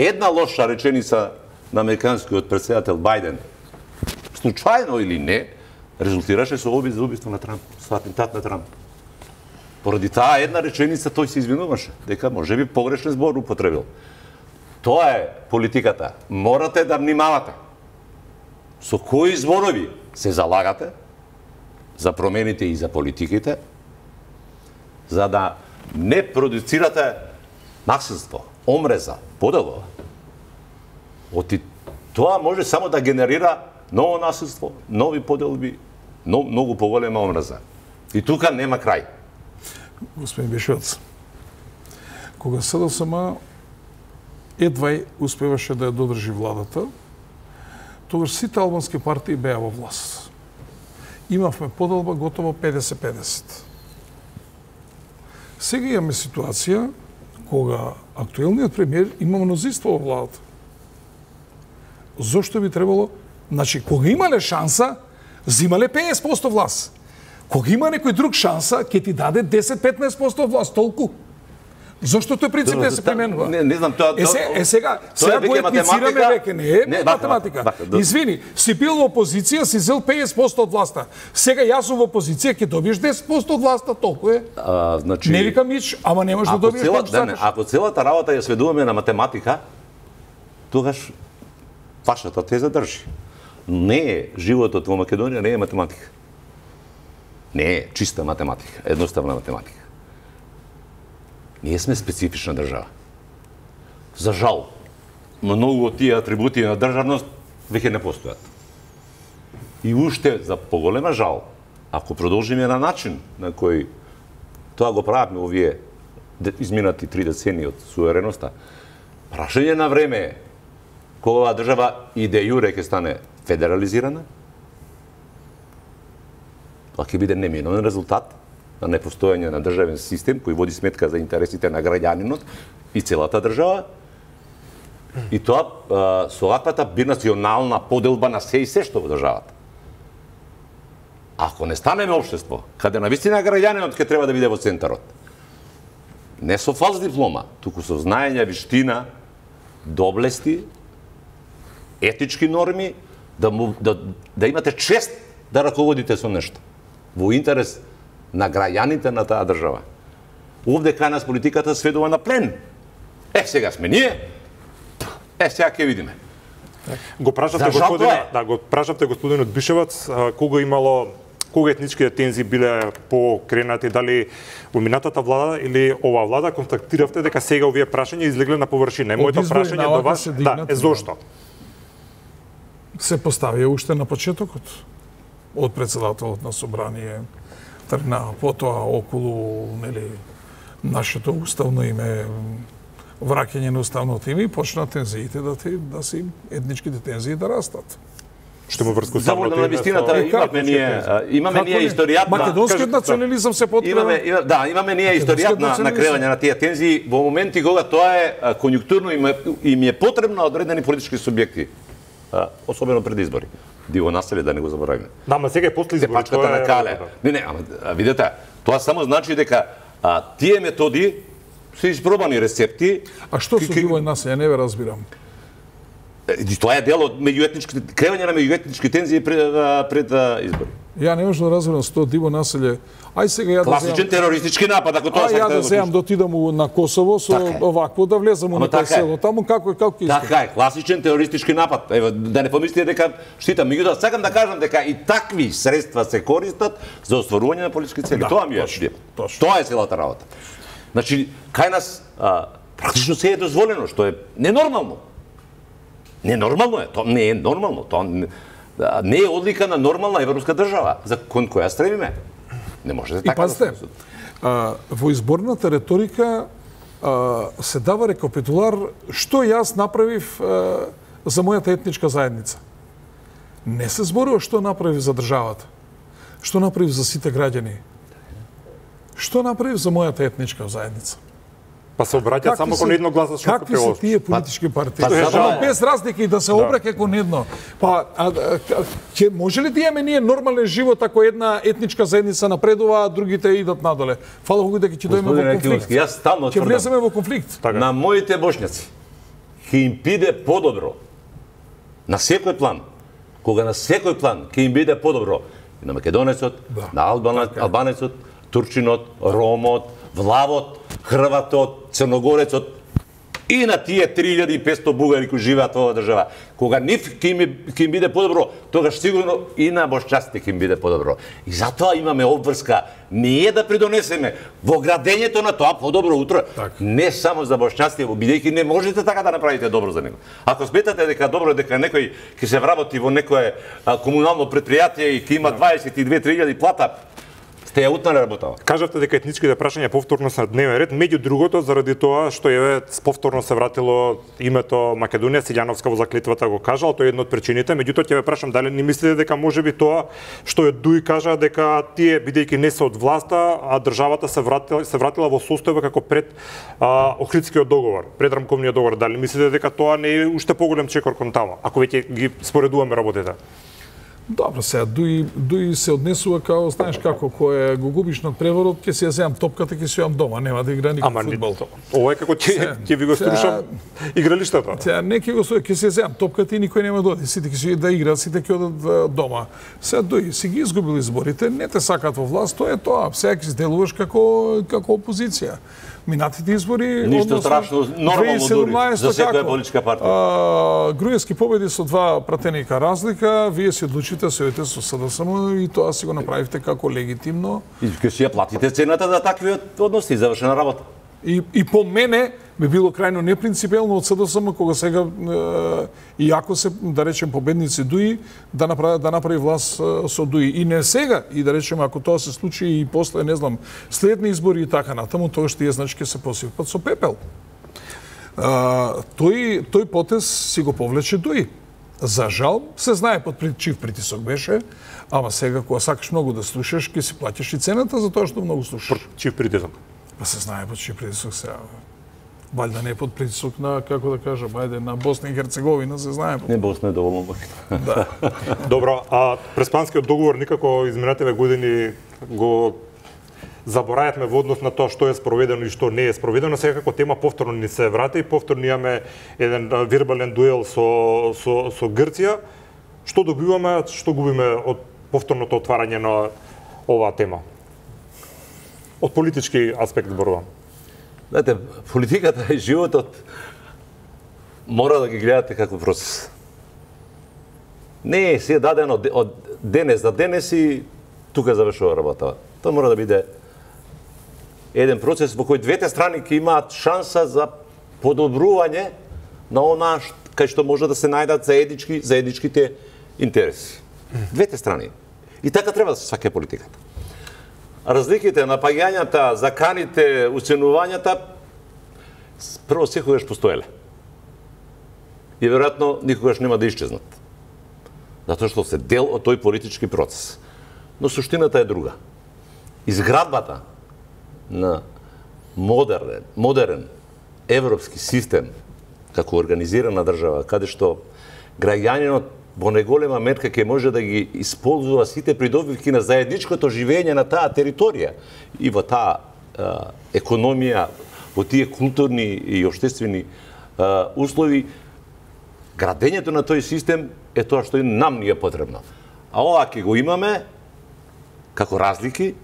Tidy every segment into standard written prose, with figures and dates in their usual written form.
една лоша реченица на американскиот председател Бајден, случајно или не, резултираше со обид за убиство на Трамп, со атентат на Трамп. Поради таа една реченица тој се извинуваше, дека можеби погрешен збор употребил. Тоа е политиката. Морате да внимавате со кои зборови се залагате за промените и за политиките, за да не продуцирате насилство, омреза, поделба. Тоа може само да генерира ново насилство, нови поделби, многу поголема омреза. И тука нема крај. Господин Бишевец, кога СДСМ едвај успеваше да ја додржи владата, тогаш сите албански партии беа во власт. Имавме поделба готово 50-50. Сега имаме ситуација кога актуелниот премиер има мнозинство во владата. Зошто би требало? Значи, кога имале шанса, зимале 50% власт. Кога има некој друг шанса, ќе ти даде 10-15% власт, толку. Зошто тој принцип не се применува? Не знам, тоа... Сега го етницираме веќе, не е математика. Извини, си бил во опозиција, си зел 50% од власта. Сега јас сум во опозиција, ќе добиеш 10% од власта, толку е. Не викам нич, ама не можеш да добиеш колку сакаш. Ако целата работа ја сведуваме на математика, тогаш вашата теза држи. Не е животот во Македонија, не е математика. Не е чиста математика, едноставна математика. Ние сме специфична држава. За жал, многу од тие атрибути на државност веќе не постојат. И уште за поголема жал, ако продолжиме на начин на кој тоа го правиме овие изминати 3 децении од сувереноста, прашање на време е кога оваа држава и де јуре ќе стане федерализирана, тоа ќе биде неминуен резултат на непостојање на државен систем кој води сметка за интересите на граѓанинот и целата држава. И тоа со ваквата бинационална поделба на се и се што во државата. Ако не станеме општество, каде навистина граѓанинот ќе треба да биде во центарот, не со фалс диплома, туку со знаење, виштина, доблести, етички норми, да имате чест да раководите со нешто во интерес на граѓаните на таа држава. Овде кај нас политиката сведува на плен. Сега сме ние. Сега ќе видиме. Го прашавте господинот Бишевац кога етничките тензии биле покренати, дали во минатата влада или оваа влада, констатиравте дека сега овие прашања излегле на површина. Моето прашање до вас е зошто? Се поставија уште на почетокот од председателот на собрание, тргна потоа околу нашето уставно име, враќање на уставното име и почна тензиите да си етничките тензии да растат. Што му врска само на вистината имаме ние историјатна македонскиот национализам се потребува. Имаме ние историјатна на кревање на тие тензии во моменти кога тоа е конјунктурно и ми е потребно одредени политички субјекти, особено пред избори. Диво населе, да не го заборавиме. Да, ама сега е после избори. Пачката на Кале. Не, ама видете, тоа само значи дека тие методи се испробани рецепти. А што со диво населе, не ве разбирам. Тоа е дел од меѓуетнички кревање на меѓуетнички тензии пред избори. Ја не можам да разберам со тоа диво населе. Ај сега ја класичен терористички напад, ако тоа сакате да земам да отидам на Косово со овакво да влезам на тоа село. Таму како ќе искам. Така е, класичен терористички напад. Ева да не помислите дека штитам, меѓутоа сакам да кажам дека и такви средства се користат за остварување на политички цели. Тоа ми е. Тоа е целата работа. Значи, кај нас практично се е дозволено, што е ненормално. Ненормално е, тоа не е нормално, тоа не е одлика на нормална европска држава за кон која стремиме. Не може да така. И пазите, во изборната реторика се дава рекапитулар што јас направив за мојата етничка заедница. Не се зборува што направив за државата, што направив за сите граѓани, што направив за мојата етничка заедница. Па се обраќаат само кон едногласачно какви се тие политички партии? Без разлика и да се обраќа кон едно. Па ќе може ли да имаме ние нормален живот ако една етничка заедница напредува, а другите идат надоле? Фала Богу дека ќе дојдеме во конфликт. Јас стално ќе влеземе во конфликт. На моите бошњаци ќе им биде подобро. На секој план. Кога на секој план ќе им биде подобро и на македонецот, на албанецот, турчинот, ромот, влавот, хрватот, црногорецот и на тие 3500 бугари кои живеат во оваа држава. Кога нив ќе им биде подобро, тогаш сигурно и на бошчаците ќе им биде подобро. И затоа имаме обврска ние да придонесеме во градењето на тоа подобро утро, не само за бошчаците, бидејќи не можете така да направите добро за него. Ако сметате дека добро дека некој ќе се вработи во некое комунално предпријатие и ќе има 22-3000 плата, сте ја утнали работава. Кажавте дека етничките прашања повторно се на дневен ред, меѓу другото заради тоа што повторно се вратило името Македонија, Силјановска во заклетвата го кажал, тоа е една од причините, меѓутоа ќе ве прашам дали не мислите дека можеби тоа што е Дуј кажа дека тие бидејќи не се од власта, а државата се вратила во состојба како пред Охридскиот договор, пред рамковниот договор, дали мислите дека тоа не е уште поголем чекор кон таму, ако веќе ги споредуваме работите? Добро, сега Дуј се однесува као, знаеш како, кој го губиш над преворот, ќе си ја земам топката, ќе си јам дома, нема да игра никој фудбал. Ова е како ќе ви го струшам игралиштето. Сега не ќе го стои, ќе си ја земам топката и никој нема да оди, сите ќе си да играат, сите ќе одат дома. Сега Дуј си ги изгубил изборите, не те сакат во власт, тоа е тоа. Сега ќе се делуваш како опозиција. Минатите избори, ништо страшно, нормално дури, за секоја политичка партија. Груевски победи со 2 пратеника разлика, вие си одлучите да се одите со СДСМ и тоа си го направивте како легитимно. И ќе си ја платите цената за такви односи, завршена работа. И по мене би било крајно непринципелно од СДСМ кога сега и ако се да речем победници Дуи да направи власт со Дуи и не сега и да речем ако тоа се случи и после не знам следни избори и така натаму тоа што тие значи ќе се посипат со пепел. Тој потез си го повлече Дуи. За жал се знае под чив притисок беше, ама сега кога сакаш многу да слушаш ќе си плаќаш и цената за тоа што многу слушаш. Чив притисок? Па се знае под чив притисок сега. Валјда не е под притисок на, како да кажам, ајде, на Босна и Херцеговина, се знае. Не, Босна е доволно богата. Да. Добро, а Преспанскиот договор никако изминативе години го заборајавме во однос на тоа што е спроведено и што не е спроведено. Сега како тема повторно ни се врати и повторно имаме еден вербален дуел со Грција. Што добиваме, што губиме од повторното отварање на оваа тема? Од политички аспект зборувам. Знаете, политиката и животот мора да ги гледате како процес. Не е се дадено од денес за денес и тука завршува работа. Тоа мора да биде еден процес во кој двете страни ќе имаат шанса за подобрување на она кај што може да се најдат заедничките интереси. Двете страни. И така треба да се сваќа политиката. Разликите, напаѓањата, заканите, уценувањата прво секогаш постоеле. И веројатно никогаш нема да исчезнат. Затоа што се дел од тој политички процес. Но суштината е друга. Изградбата на модерен европски систем како организирана држава, каде што граѓанинот во неголема мерка ќе може да ги исползува сите придобивки на заедничкото живење на таа територија и во таа економија, во тие културни и општествени услови, градењето на тој систем е тоа што и нам ни е потребно. А ова ќе го имаме како разлики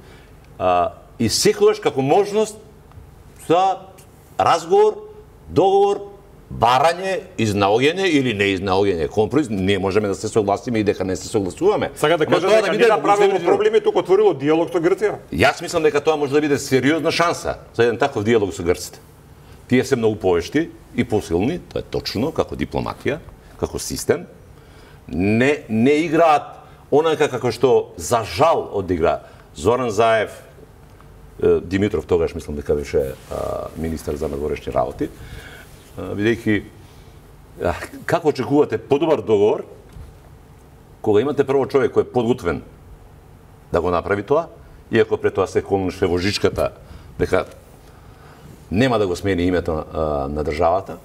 и секогаш како можност за разговор, договор, барање, изнаоѓање или неизнаоѓање компромис, не можеме да се согласиме и дека не се согласуваме. Сега да кажете дека не направило проблеми, туку отворило диалог со Грција? Јас мислам дека тоа може да биде сериозна шанса за еден таков диалог со грците. Тие се многу повешти и посилни, тоа е точно, како дипломатија, како систем. Не играат онака како што за жал одигра Зоран Заев, Димитров тогаш мислам дека беше министар за надворешни работи, бидејќи како очекувате подобар договор кога имате прво човек кој е подготвен да го направи тоа, иако пред тоа се колнуше во жичката дека нема да го смени името на државата.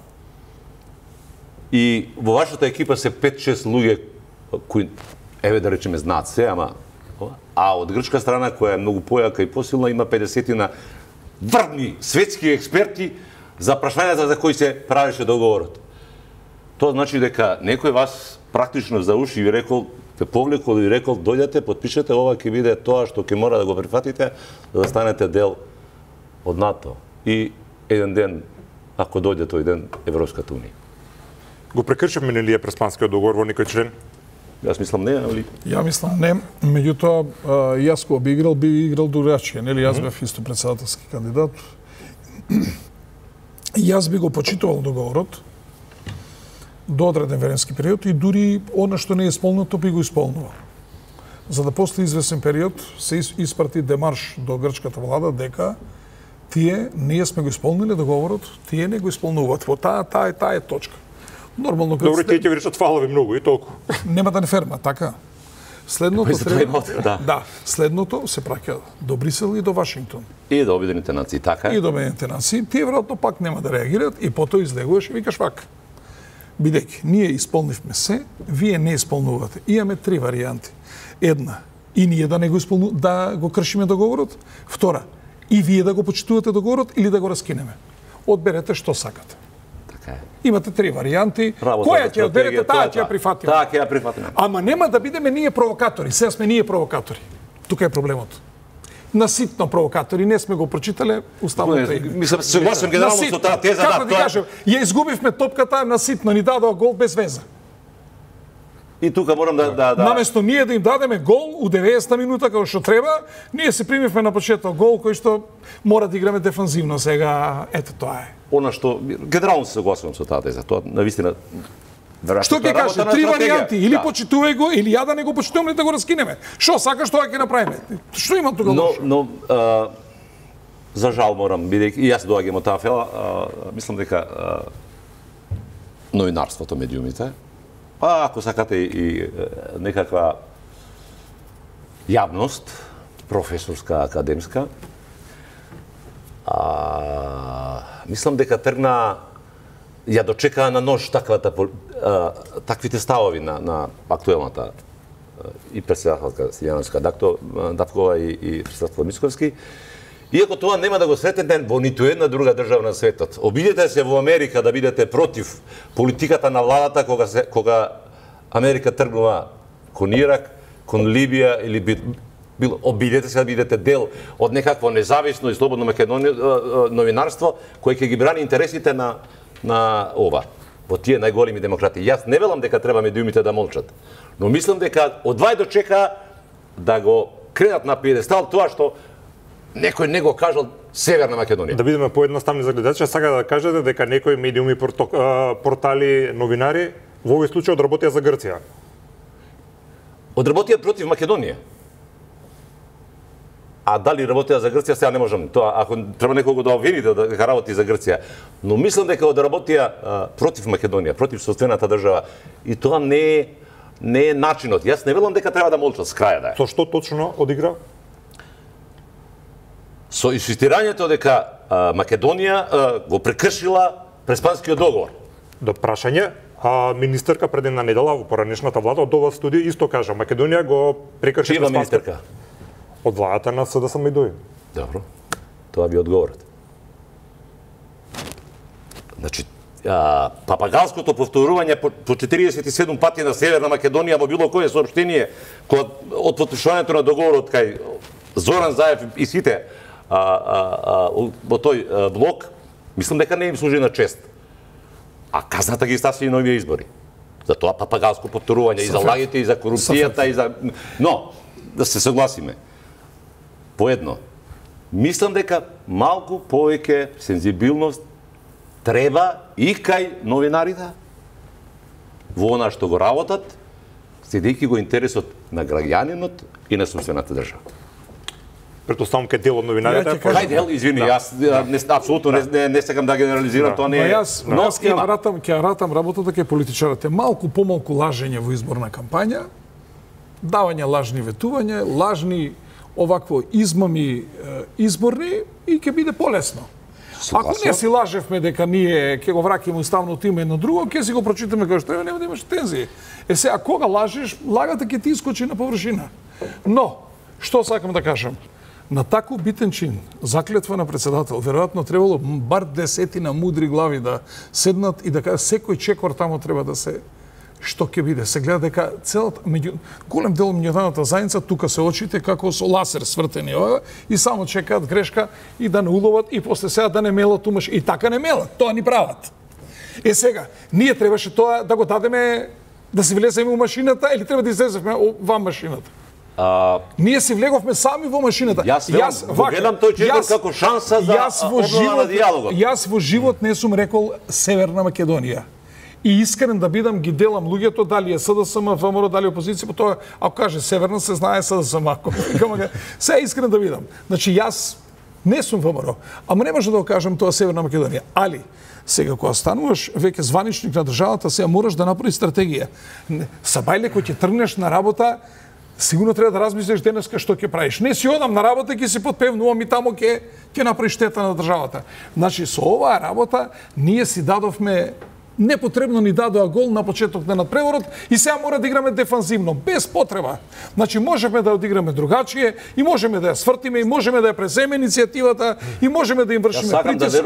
И во вашата екипа се 5-6 луѓе кои, еве да речеме, знаат се, ама од грчка страна, која е многу појака и посилна, има 50 врвни светски експерти за прашањата за кои се правеше договорот. Тоа значи дека некој вас практично за уши ви рекол, те повлекол и рекол, дојдете, потпишете, ова ќе биде тоа што ќе мора да го прифатите, за да станете дел од НАТО. И еден ден, ако дојде тој ден, Европската унија. Го прекршивме ли Преспанскиот договор во некој член? Јас мислам не, али... Ја мислам не, меѓутоа јас кога би играл другачие, нели јас бев исто претседателски кандидат. Јас би го почитувал договорот до одреден временски период и дури она што не е исполнето би го исполнувал. За да после извесен период се испрати демарш до грчката влада дека ние сме го исполнили договорот, тие не го исполнуваат. Во таа е точка. Нормално Добро, тие ќе ви речат фала ви многу и толку. Нема да не ферма, така. Следното да. Следното се праќа до Брисел и до Вашингтон. И до Обединените нации, така. И до Обединените нации. Тие веројатно пак нема да реагираат и потоа излегуваш и викаш вака. Бидејќи ние исполнивме се, вие не исполнувате. Имаме три варијанти. Една, и ние да го кршиме договорот. Втора, и вие да го почитувате договорот или да го раскинеме. Одберете што сакате. Така е. Имате три варијанти. Која ќе одберете, таа ќе ја прифатиме. Таа ќе ја прифатиме. Ама нема да бидеме ние провокатори. Сега сме ние провокатори. Тука е проблемот. Наситно провокатори, не сме го прочитале уставното име. Мислам, се согласувам генерално со таа теза, како да кажем, ја изгубивме топката наситно, ни дадоа гол без веза. И тука морам да... Наместо ние да им дадеме гол у 90-та минута како што треба, ние се примивме на почеток гол кој што мора да играме дефанзивно сега. Ето тоа е. Она што генерално се согласувам со таа теза. Тоа навистина што ќе каже, три варијанти, или почитувај го, или ја да не го почитувам, или да го раскинеме. Што сакаш, тоа ќе направиме. Што има тука лошо? Но за жал морам, бидејќи и јас доаѓам од таа фела, мислам дека новинарството, медиумите, па ако сакате и некаква јавност, професорска, академска, мислам дека тргна ја дочекаа на нож таквите ставови на актуелната и председателка Силјановска Дапкова и председател Мицковски. Иако тоа нема да го сретнете во ниту една друга држава на светот. Обидете се во Америка да бидете против политиката на владата кога Америка тргнува кон Ирак, кон Либија или обидете се да бидете дел од некакво независно и слободно новинарство кој ќе ги брани интересите на ова, во тие најголеми демократи. Јас не велам дека треба медиумите да молчат, но мислам дека одвај дочека да го кредат на пиедестал тоа што некој не го кажал Северна Македонија. Да бидеме поедноставни за гледачите, сака да кажете дека некои медиуми, портали, новинари во овој случај одработија за Грција. Одработија против Македонија. А дали работеа за Грција, сега не можам. Тоа, ако треба некого да обвините дека работи за Грција. Но мислам дека одработија против Македонија, против собствената држава. И тоа не е начинот. Јас не велам дека треба да молчат с краја да е. Со што точно одигра? Со инсистирањето дека Македонија го прекршила Преспанскиот договор. До прашање, министерка пред една недела во поранешната влада од ова студија исто кажа Македонија го прекрши Преспанскиот. Чија министерка? Од владата на СДСМ и ДОИ. Добро. Тоа би одговорот. Значи, папагалското повторување по 47 пати на Северна Македонија во било кое соопштение од потпишувањето на договорот кај Зоран Заев и сите во тој блок, мислам дека не им служи на чест. А казната ги стаси и нови избори. За тоа папагалско повторување и за лагите, и за корупцијата, и за... Но, да се согласиме. Поедно, мислам дека малку повеќе сензибилност треба и кај новинарите во она што го работат, следејќи го интересот на граѓанинот и на собствената држава. Претпоставам кај дел од новинарите. Кај дел, извини, јас апсолутно не сакам да генерализирам, тоа не е. Јас ќе ратам работата кај политичарите. Малку помалку лажење во изборна кампања, давање лажни ветувања, лажни овакво измами изборни и ќе биде полесно. Ако не си лажевме дека ние ќе го враќаме уставното име едно друго, ќе си го прочитаме како што нема да имаш тензии. Сега кога лажеш, лагата ќе ти искочи на површина. Но, што сакам да кажам? На тако битен чин, заклетва на председател, веројатно требало бар 10 мудри глави да седнат и да кажат секој чекор тамо треба да се што ќе биде. Се гледа дека целата голем дел меѓународната заедница тука се очите како со ласер свртени и само чекаат грешка и да не уловат и после сега да не мелат умаш и така не мелат. Тоа ни прават. Сега, ние требаше тоа да го дадеме да се влеземе у машината или треба да излеземе ван машината? Ние се влеговме сами во машината. Јас гледам тој чекор како шанса за обнова на диалогот. Јас во живот не сум рекол Северна Македонија. И искрен да бидам, ги делам луѓето, дали е СДСМ, ВМРО, дали опозиција, по тоа, ако каже Северна, се знае СДСМ. Се искрен да бидам. Значи, јас не сум ВМРО, ама не може да го кажам тоа Северна Македонија. Али, сега, кога стануваш веќе званичник на државата, сега мораш да направиш стратегија. Сабајле, кој ќе тргнеш на работа, сигурно треба да размислиш денеска што ќе правиш. Не си одам на работа, ќе си подпевнувам и тамо ќе направиш штета на државата. Значи, со оваа работа, ние си дадовме непотребно ни дадоа гол на почеток на надпреворот и сега мора да играме дефанзивно, без потреба. Значи, можеме да одиграме другачие и можеме да ја свртиме и можеме да ја преземе иницијативата и можеме да им вршиме притиск.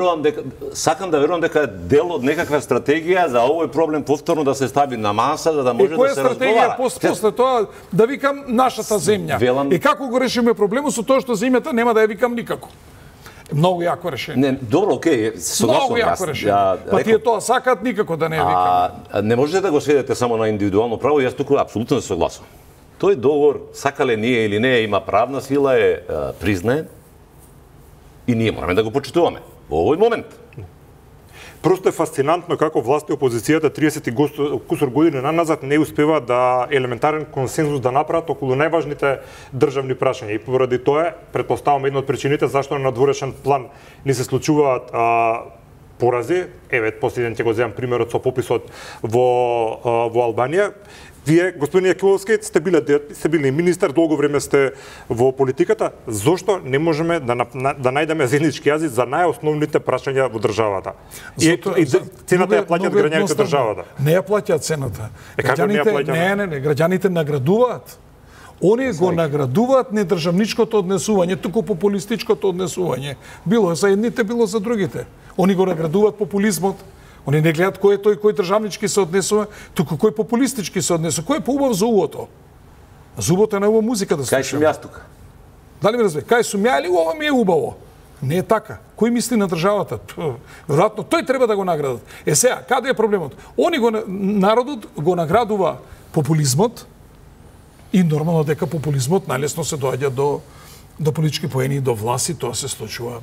Сакам да верувам дека е дел од некаква стратегија за овој проблем повторно да се стави на маса, за да може да се разговара. Која стратегија после тоа да викам нашата земја? И како го решиме проблемот со тоа што земјата нема да ја викам никако? Многу јако решение. Не, добро, окей, согласувам. Многу јако решение. Па тие тоа сакаат никако да не викам. Не можете да го сведете само на индивидуално право, јас туку апсолутно се согласувам. Тој договор, сакале ние или не, има правна сила, е признаен и ние мораме да го почитуваме во овој момент. Просто е фасцинантно како власт и опозицијата 30 кусор години назад не успева да елементарен консензус да направат околу најважните државни прашања. И поради тоа, претпоставам, една од причините зашто на надворешен план не се случуваат порази. Еве, последен ќе го земам примерот со пописот во Албанија. Вие, господин Јакимовски, сте били министар, долго време сте во политиката. Зошто не можеме да најдеме заеднички јазик за најосновните прашања во државата? И цената ја плаќаат граѓаните државата. Не ја плаќаат цената. Како не ја плаќаат? Не, граѓаните наградуваат. Они го наградуваат не државничкото однесување, туку популистичкото однесување. Било за едните, било за другите. Они го наградуваат популизмот. Они не гледат кој е тој кој државнички се однесува, туку кој популистички се однесува. Кој е поубав за увото? Зубото е на ова музика да слушаме. Кај сум јас тука? Дали ме разбе? Кај сум ја или ова ми е убаво? Не е така. Кој мисли на државата? Веројатно тој треба да го наградат. Сега, каде е проблемот? Народот го наградува популизмот и нормално дека популизмот најлесно се доаѓа до политички поени, до власти, тоа се случува.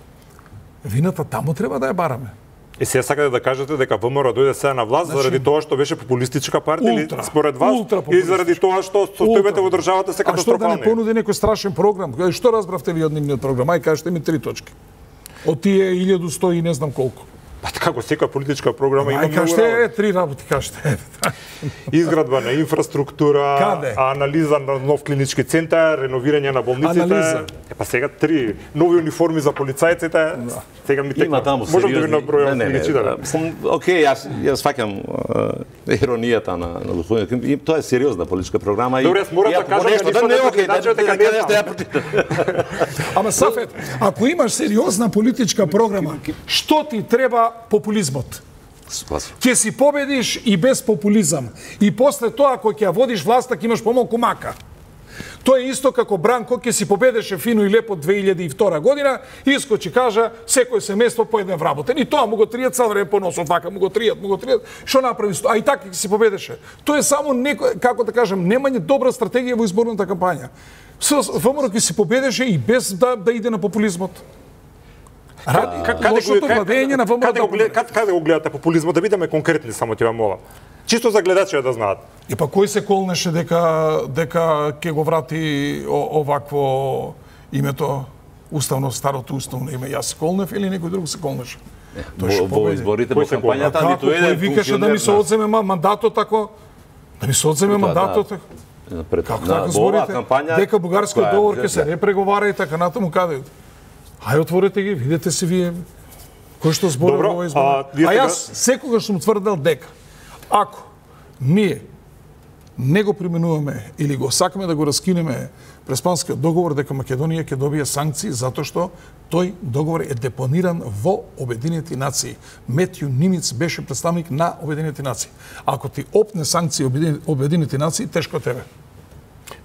Вината тамо треба да ја бараме. И сега сакате да кажете дека ВМРО дојде сега на власт заради тоа што беше популистичка партија или според вас или заради тоа што состојбите во државата се катастрофални? А што да не понуди некој страшен програм? Што разбравте ви од нивниот програм? Ај кажете ми 3 точки. Од тие 1100 и не знам колку. Па како секоја политичка програма има многу работи. Кажете 3 работи, кажете. Изградба на инфраструктура, Каде? анализа на нов клинички центар, реновирање на болниците. Па сега 3 нови униформи за полицајците. Сега ми има таму сериозни. Можам да ви набројам величина. Океј, јас фаќам иронијата на господинот. И тоа е сериозна политичка програма и добре, мора да кажам нешто не окей, дека ја прочитам. Ама Сафет, ако имаш сериозна политичка програма, што ти треба популизмот? Ќе си победиш и без популизам. И после тоа, ако ќе ја водиш власта, ќе имаш помалку мака. Тоа е исто како Бранко ќе си победеше фино и лепо 2002 година, искочи кажа секој семејство по еден вработен. И тоа му го тријат цел време по носот, вака му го тријат. Што направи? А и така ќе си победеше. Тоа е само некој, како да кажам, немање добра стратегија во изборната кампања. ВМРО ќе си победеше и без да иде на популизмот. Лошото владење на ВМРО. Каде го гледате популизмот? Да бидеме конкретни, само ќе вам молам. Чисто за гледачите да знаат. И па кој се колнеше дека ќе го врати овакво името уставно, старото уставно име? Јас се колнев или некој друг се колнеше? Во изборите, во кампањата, ниту еден кој викаше да ми се одземе мандатот тако? Да ми се одземе мандатот тако? Како така зборите? Дека бугарскиот договор ќе се репреговара и така натаму каде? Ај отворете ги, видете се вие кој што зборува во овој избор. А јас секогаш сум тврдел дека ако ние не го применуваме или го сакаме да го раскинеме Преспанскиот договор, дека Македонија ќе добие санкции затоа што тој договор е депониран во Обединените нации. Метју Нимиц беше представник на Обединените нации. Ако ти опне санкции Обединените нации, тешко тебе.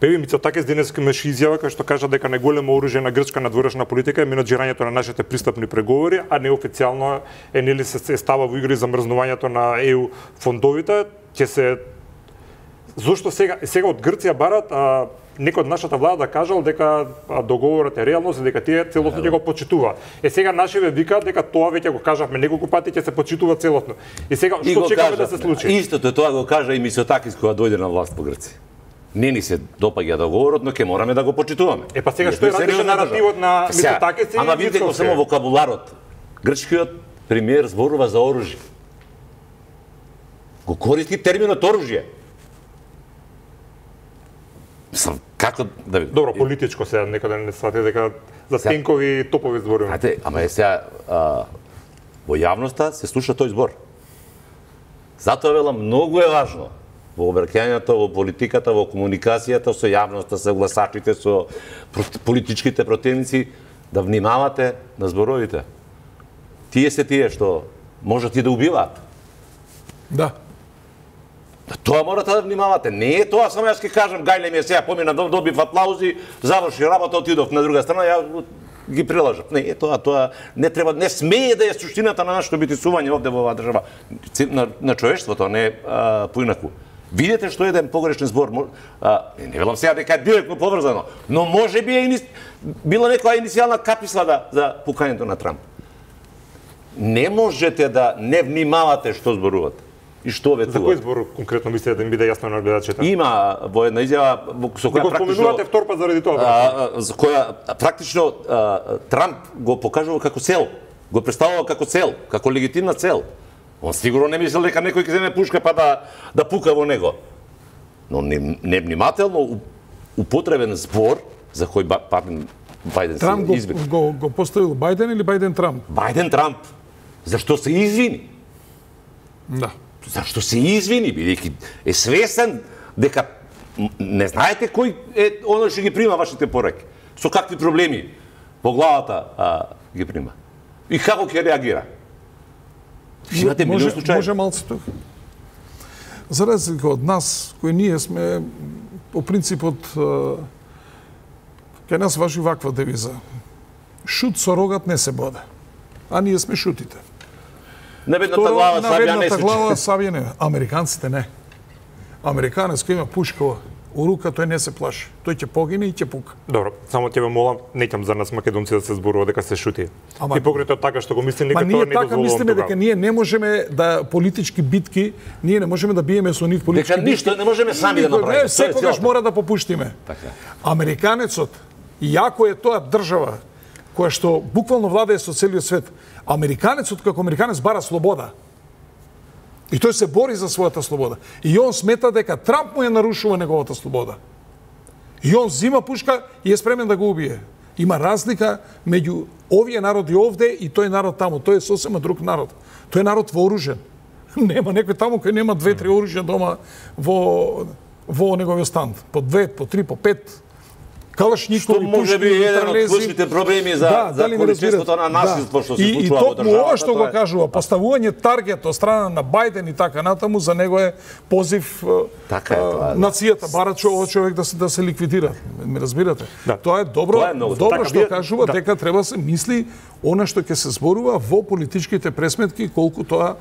Певи Мицотакис денес имаше изјава кај што кажа дека најголемо оружје на грчка надворешна политика е менаџирањето на нашите пристапни преговори, а неофицијално е нели се става во игри замрзнувањето на ЕУ фондовите. Ќе се зошто сега од Грција барат некој од нашата влада да кажал дека договорот е реалност и дека тие целосно ќе го почитува. Сега нашиве викаат дека тоа веќе го кажавме неколку пати, ќе се почитува целосно. И сега што чекаме да се случи? Истото тоа го кажа и Мицотакис кога дојде на власт по Грција. Не ни се допаѓа договорот, но ќе мораме да го почитуваме. Па сега што е различен наративот на Мицотакис и ама видите го само вокабуларот. Грчкиот премиер зборува за оружје. Го користи терминот оружје. Како да Добро, политичко сега некаде не свати дека за тенкови и топови зборуваме. Ате, ама е сега во јавноста се слуша тој збор. Затоа велам многу е важно во обраќањето, во политиката, во комуникацијата со јавноста, со гласачите, со политичките противници да внимавате на зборовите. Тие се тие што можат и да убиваат. Да. Тоа морате да внимавате. Не е тоа само јас ќе кажам гајле ми сега помина добив аплаузи, заврши работа, отидов на друга страна, ја ги прилажав. Не е тоа не треба, не смее да е суштината на нашето битисување овде во оваа држава на човештвото, не поинаку. Видете што е еден погрешен збор. Не велам сега дека е директно поврзано, но може би е била некоја иницијална каписла за пукањето на Трамп. Не можете да не внимавате што зборувате. И што ветува. За кој збор конкретно мислите да им биде јасно на гледачите? Има во една изјава со која практично споменувате втор пат заради тоа. За која практично Трамп го покажува како цел, го представува како цел, како легитимна цел. Он сигурно не мислел дека некој ќе земе пушка па да пука во него. Но невнимателно употребен збор за кој Бајден Трамп го поставил Бајден или Бајден Трамп? Бајден Трамп. Зашто се извини? Да. Зашто се извини, бидејќи е свесен дека не знаете кој е оној што ги прима вашите пораки. Со какви проблеми по главата ги прима. И како ќе реагира. Имате милион случаи. Може малце тука. За разлика од нас, кои ние сме по принципот кај нас важи ваква девиза. Шут со рогат не се боде. А ние сме шутите. Наведната глава сабија не се глава сабија не. Американците не. Американец кој има пушка у рука, тој не се плаши. Тој ќе погине и ќе пука. Добро, само ќе ве молам, неќам за нас македонци да се зборува дека се шути. И покрај така што го мислим, нека тоа не дозволувам. Па ние така мислиме дека ние не можеме да политички битки, ние не можеме да биеме со нив политички битки. Дека ништо не можеме сами да направиме. Секогаш мора да попуштиме. Така. Американецот, иако е тоа држава која што буквално владее со целиот свет, американецот како американец бара слобода. И тој се бори за својата слобода. И он смета дека Трамп му ја нарушува неговата слобода. И он зима пушка и е спремен да го убие. Има разлика меѓу овие народи овде и тој народ таму. Тој е сосема друг народ. Тој е народ вооружен. Нема некој таму кој нема 2-3 оружја дома во неговиот стан. По 2, по 3, по 5. Калашникови, што може би еден од клучните проблеми за количеството на насилство што се случува во државата. И ова што го кажува, поставување таргет од страна на Бајден и така натаму, за него е позив нацијата, бара човек да се ликвидира. Ме разбирате? Тоа е добро, што кажува дека треба се мисли она што ќе се зборува во политичките пресметки, колку тоа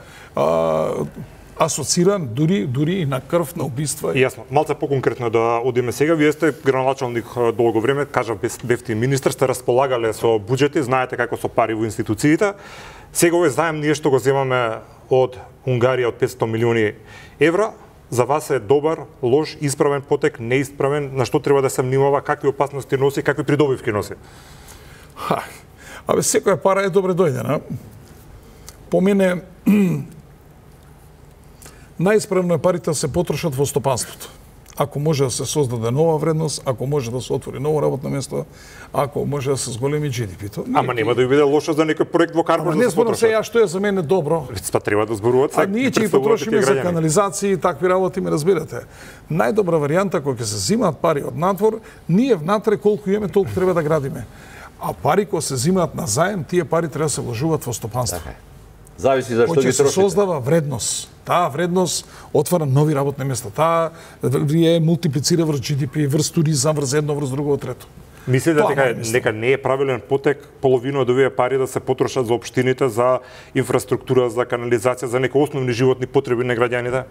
асоциран дури и на крв, на убиства. Јасно. Малце поконкретно да одиме сега. Вие сте градоначалник долго време, кажав бевте министар, сте располагале со буџети, знаете како со пари во институциите. Сега овој заем ние што го земаме од Унгарија од 500 милиони евра, за вас е добар, лош, исправен потек, неисправен, на што треба да се внимава, какви опасности носи, какви придобивки носи? Абе, секоја пара е добре дојдена. По мене, најисправно е парите да се потрошат во стопанството, ако може да се создаде нова вредност, ако може да се отвори ново работно место, ако може да се зголеми GDP-то. Ама нема да биде лошо за некој проект во Карбош да се потроши. Не зборам сега што е за мене добро. Па треба да зборуваат сега. А ние ќе ги потрошиме за канализации и такви работи, ме разбирате. Најдобра варијанта кога ќе се зимаат пари од надвор, ние внатре колку имаме толку треба да градиме. А пари кога се зимаат на заем, тие пари треба да се вложуваат во стопанство. Така е. Зависи зашто ги трошите. Кој ќе се создава вредност. Таа вредност отвара нови работни места. Таа влие мултиплицира врз GDP, врз туризам, врз едно, врз друго, трето. Мислите дека не е правилен потек половина од овие пари да се потрошат за општините, за инфраструктура, за канализација, за некои основни животни потреби на граѓаните?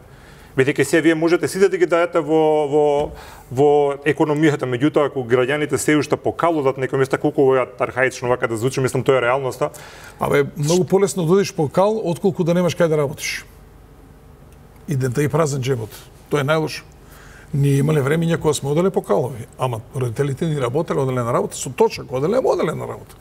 Бидејќи се вие можете сите да ги дајете во економијата, меѓутоа ако граѓаните се уште покалудат некој места, колку ова архаично вака да звучи, мислам тоа е реалноста. Многу полесно да одиш по кал отколку да немаш кај да работиш. И да и празен джебот. Тоа е најлошо. Ние имале времења кога сме оделе по калови, ама родителите ни работеле, оделе на работа со точак, оделе на работа.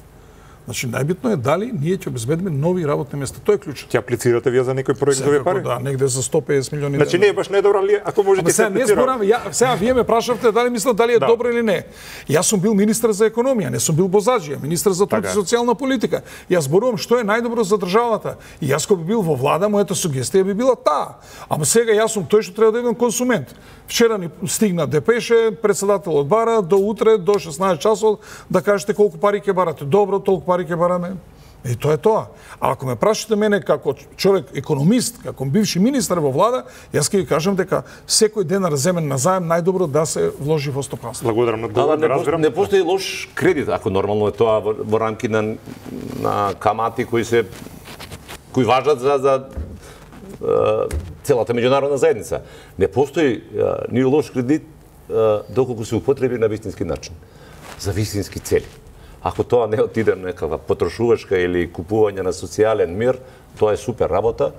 Значи најбитно е дали ние ќе обезбедиме нови работни места. Тоа е клучот. Ќе аплицирате вие за некој проект за овие пари? Да, негде за 150 милиони. Значи не е баш недобра ли ако можете да не зборам, сега вие ме прашавте дали мислам дали е добро или не. Јас сум бил министер за економија, не сум бил бозаджија, министер за труд и социјална политика. Јас зборувам што е најдобро за државата. И јас кога би бил во влада, мојата сугестија би била таа. Ама сега јас сум тој што треба да бидам консумент. Вчера ни стигна депеше, председателот бара до утре до 16 часот да кажете колку пари ќе барате. Добро, толку пари ќе бараме. И тоа е тоа. А ако ме прашате мене како човек економист, како бивши министар во влада, јас ќе ви кажам дека секој денар земен на заем најдобро да се вложи во стопанство. Благодарам на одговорот. Не постои лош кредит, ако нормално е тоа во рамки на камати кои важат за целата меѓународна заедница. Не постои ни лош кредит доколку се употреби на вистински начин, за вистински цели. Ако тоа не отиде некаква потрошувачка или купување на социјален мир, тоа е супер работа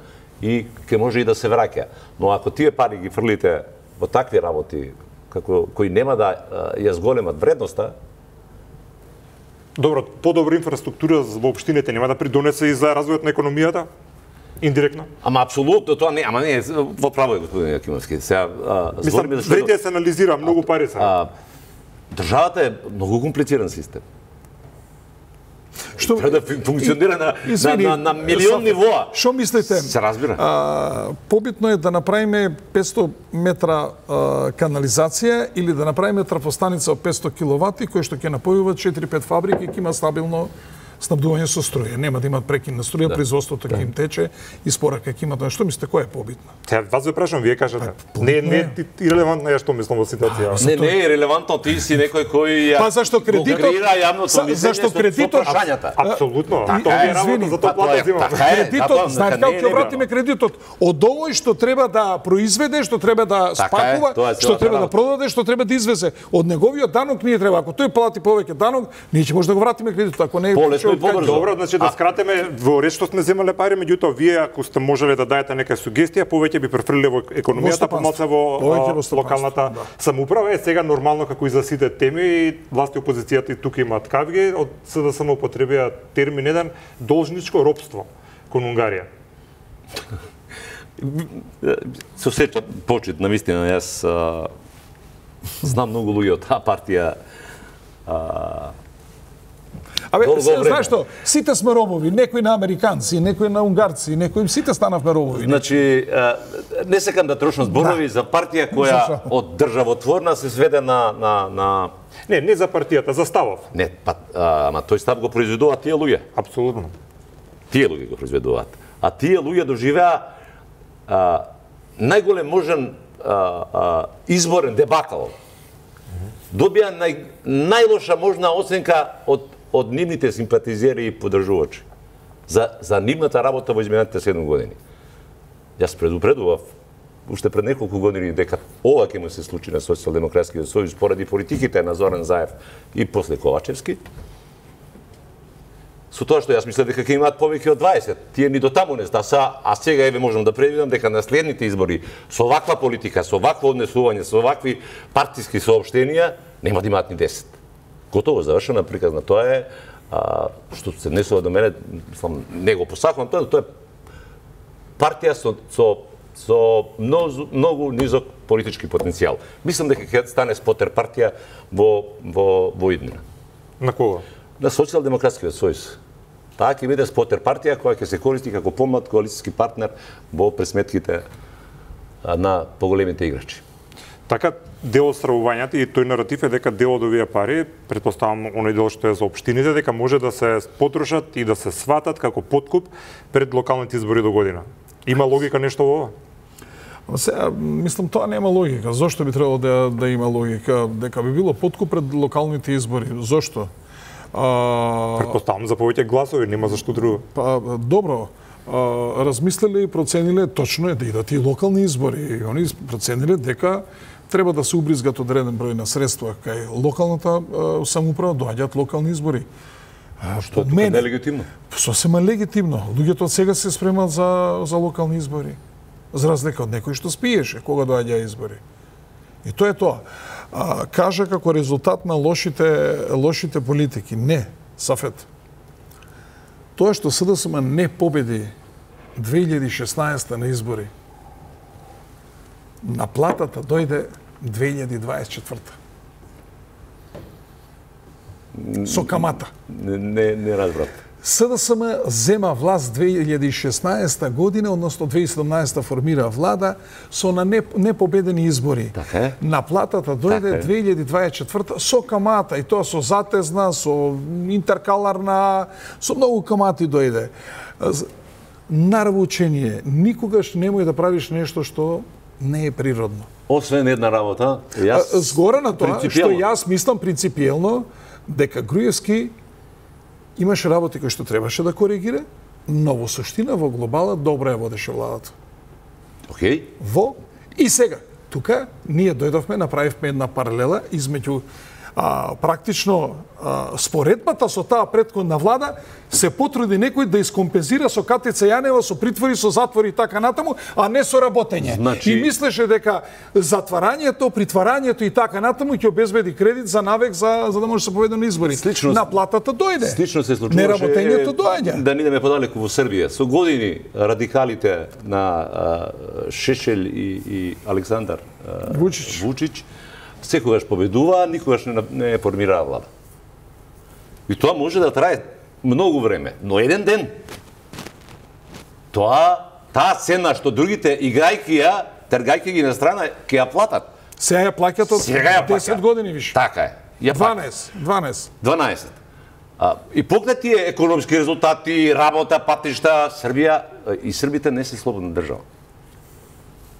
и ќе може и да се враќа. Но ако тие пари ги фрлите во такви работи кои нема да ја зголемат вредноста, добро, подобра инфраструктура во општините нема да придонесе и за развојот на економијата? Индиректно? Ама апсолутно тоа не, ама не, во право е господин Јакимовски. Сега збориме зашто вреди се анализира многу пари се. Државата е многу комплициран систем. Што треба да функционира на милион нивоа. Што мислите? Се разбира. Побитно е да направиме 500 метра канализација или да направиме трафостаница од 500 киловати кој што ќе напојува 4-5 фабрики, ќе има стабилно снабдување со струја. Нема да имат прекин на струја, производството ќе им тече, испорака ќе имат. Што мислите кој е побитно? Сега вас ве прашам, вие кажете. Не е ирелевантно ја што мислам во ситуација. Не е ирелевантно, ти си некој кој Па зашто кредитот креира јавното мислење зашто кредитот апсолутно. Тоа е работа за тоа плата зема. Кредитот, знаете како ќе вратиме кредитот? Од овој што треба да произведе, што треба да спакува, што треба да продаде, што треба да извезе. Од неговиот данок ние треба, ако тој плати повеќе данок, ние ќе може да го вратиме кредитот, ако не Добро, значи да скратиме во ред што сме земале пари, меѓутоа вие ако сте можеле да дајете нека сугестија, повеќе би префрлиле во економијата, помалку во локалната самоуправа. Е сега нормално како и за сите теми, власти и опозицијата и тука имаат кавги, од СДСМ употребија термин еден должничко ропство кон Унгарија. Се осеќам почит, навистина, јас знам многу луѓе од таа партија. Знаеш што, сите сме робови, некои на американци, некои на унгарци, некои сите станавме робови. Значи, не сакам да трошам зборови за партија која од државотворна се сведе на Не за партијата, за ставов. Не, ама тој став го произведуваат тие луѓе. Апсолутно. Тие луѓе го произведуваат. А тие луѓе доживеа најголем можен изборен дебакал. Добија најлоша можна оценка од нивните симпатизери и поддржувачи за нивната работа во изминатите 7 години. Јас предупредував уште пред неколку години дека ова ќе му се случи на Социјалдемократскиот сојуз поради политиките на Зоран Заев и после Ковачевски. Со тоа што јас мислев дека ќе имаат повеќе од 20, тие ни до таму не стаса, а сега еве можам да предвидам дека на следните избори со ваква политика, со вакво однесување, со вакви партиски соопштенија нема да имаат ни 10. Готово завршена приказна. Тоа е што се однесува до мене, не го посакувам тоа е партија со со многу низок политички потенцијал. Мислам дека ќе стане спотер партија во иднина. На кого? На Социјалдемократскиот сојуз. Таа ќе биде спотер партија која ќе се користи како помлад коалицијски партнер во пресметките на поголемите играчи. Така, дел од стравувањето и тој наратив е дека дел од овие пари, претпоставам оној дел што е за општините, дека може да се потрошат и да се сватат како подкуп пред локалните избори до година. Има логика нешто во ова? Сега, мислам, тоа нема логика. Зошто би требало да има логика? Дека би било подкуп пред локалните избори. Зошто? Претпоставам за повеќе гласови, нема зашто друго. Добро. Размислиле и процениле, точно е да идат и локални избори. И они процениле дека треба да се убризгат одреден број на средства кај локалната самоуправа, доаѓаат локални избори. Што тука не е легитимно? Сосема легитимно. Луѓето од сега се спремат за локални избори. За разлика од некој што спиеше кога доаѓаа избори. И тоа е тоа. Кажа како резултат на лошите политики. Не, Сафет. Тоа што СДСМ не победи 2016 на избори, наплатата дојде 2024. Со камата. Не разбрав. СДСМ зема власт 2016 година, односно 2017 формира влада со на непобедени избори. Така е. Наплатата дојде 2024 со камата, и тоа со затезна, со интеркаларна, со многу камати дојде. Нарвучение, никогаш немој да правиш нешто што не е природно. Освен една работа, згора на тоа што јас мислам принципиелно дека Груевски имаше работи кои што требаше да коригира, но во суштина, во глобала, добро ја водеше владата. Океј. И сега, тука, ние дојдовме, направивме една паралела измеѓу практично споредбата со таа претходна влада, се потруди некој да искомпензира со Катица Јанева, со притвори, со затвори и така натаму, а не со работење. И мислеше дека затварањето, притварањето и така натаму ќе обезбеди кредит за навек за да може да се поведе на избори. Наплатата дојде. Слично се случуваше. Неработењето доаѓа. Да не идеме подалеку во Србија. Со години радикалите на Шешел и Александар Вучич секогаш победуваа, никогаш не формираа влада. И тоа може да трае многу време, но еден ден таа цена што другите играјки ја, тергајки ги на страна, ќе ја платат. Сега ја плаќат од 10 години више. Така е. 12. И поглед тие економски резултати, работа, патишта, Србија и србите не се слободна држава.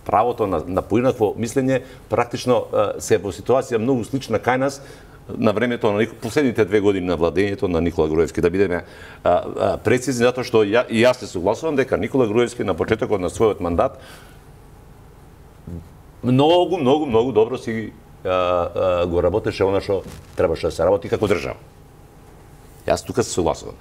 Правото на поинакво мислење практично се во ситуација многу слична кај нас на времето на последните 2 години на владењето на Никола Груевски. Да бидеме прецизни, затоа што и јас се согласувам дека Никола Груевски на почетокот на својот мандат многу добро си го работеше она што требаше да се работи како држава. Јас тука се согласувам.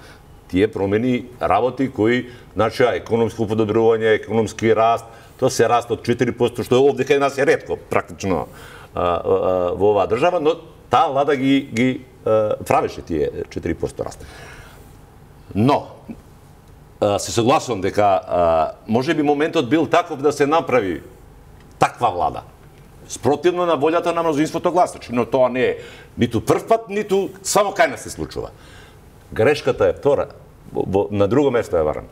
Тие промени работи кои начаа економско подобрување, економски раст, тоа се раст од 4%, што овде кај нас е ретко, практично во оваа држава, но таа влада ги правеше тие 4% раст. Но, се согласувам дека можеби моментот бил таков да се направи таква влада. Спротивно на волјата на мнозинството гласачи, но тоа не е ниту прв пат, ниту само кај нас се случува. Грешката е втора, на друго место е варам.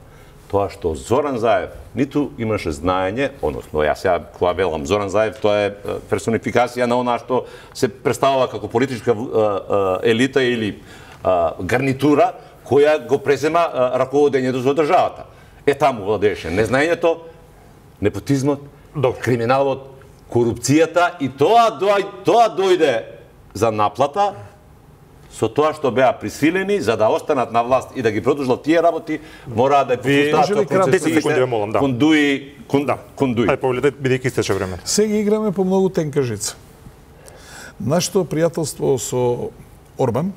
Тоа што Зоран Заев ниту имаше знаење, односно јас сега кога велам Зоран Заев, тоа е персонификација на она што се представува како политичка елита или гарнитура која го презема раководењето за државата. Таму владееше незнаењето, непотизмот, криминалот, корупцијата и тоа дојде за наплата со тоа што беа присилени за да останат на власт и да ги продолжат тие работи, мораа да покажат кондуи. Ај повелете, бидејќи истече време. Сега играме по многу тенка жица. Нашето пријателство со Орбан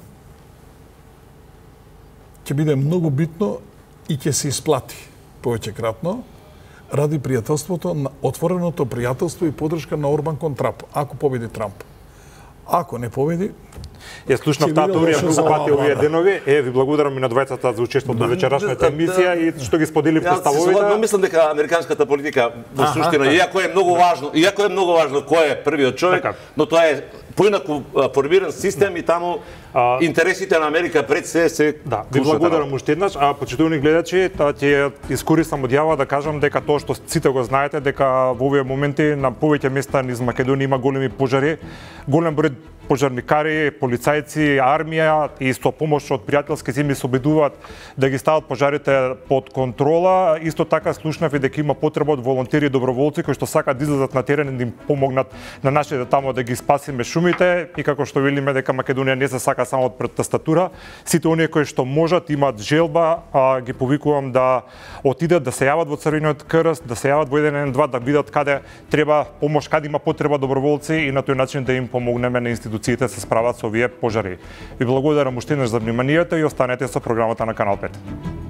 ќе биде многу битно и ќе се исплати повеќекратно ради пријателството, отвореното пријателство и поддршка на Орбан кон Трамп, ако победи Трамп. Ако не победи, Ја слушнав таа теорија многу пати овие денови. Ви благодарам и на двајцата за учеството во вечерашната емисија и што ги споделивте ставовите. Јас мислам дека американската политика во суштина, иако е многу важно кој е првиот човек, но тоа е поинаку формиран систем и таму интересите на Америка пред се Да, ви благодарам уште еднаш, почитувани гледачи, ќе искористам од јава да кажам дека тоа што сите го знаете, дека во овие моменти на повеќе места низ Македонија има големи пожари, голем број пожарникари, полицајци, армија и со помош од пријателски земи се обидуваат да ги стават пожарите под контрола. Исто така слушнав и дека има потреба од волонтери и доброволци кои што сакаат да излезат на терен и да им помогнат на нашите таму да ги спасиме шумите и како што велиме дека Македонија не се сака само од тастатура. Сите оние кои што можат, имаат желба, ги повикувам да отидат, да се јават во Црвениот крст, да се јават во 112, да видат каде треба помош, каде има потреба доброволци и на тој начин да им помогнеме на институциите се справат со овие пожари. Ви благодарам уште еднаш за вниманието и останете со програмата на Канал 5.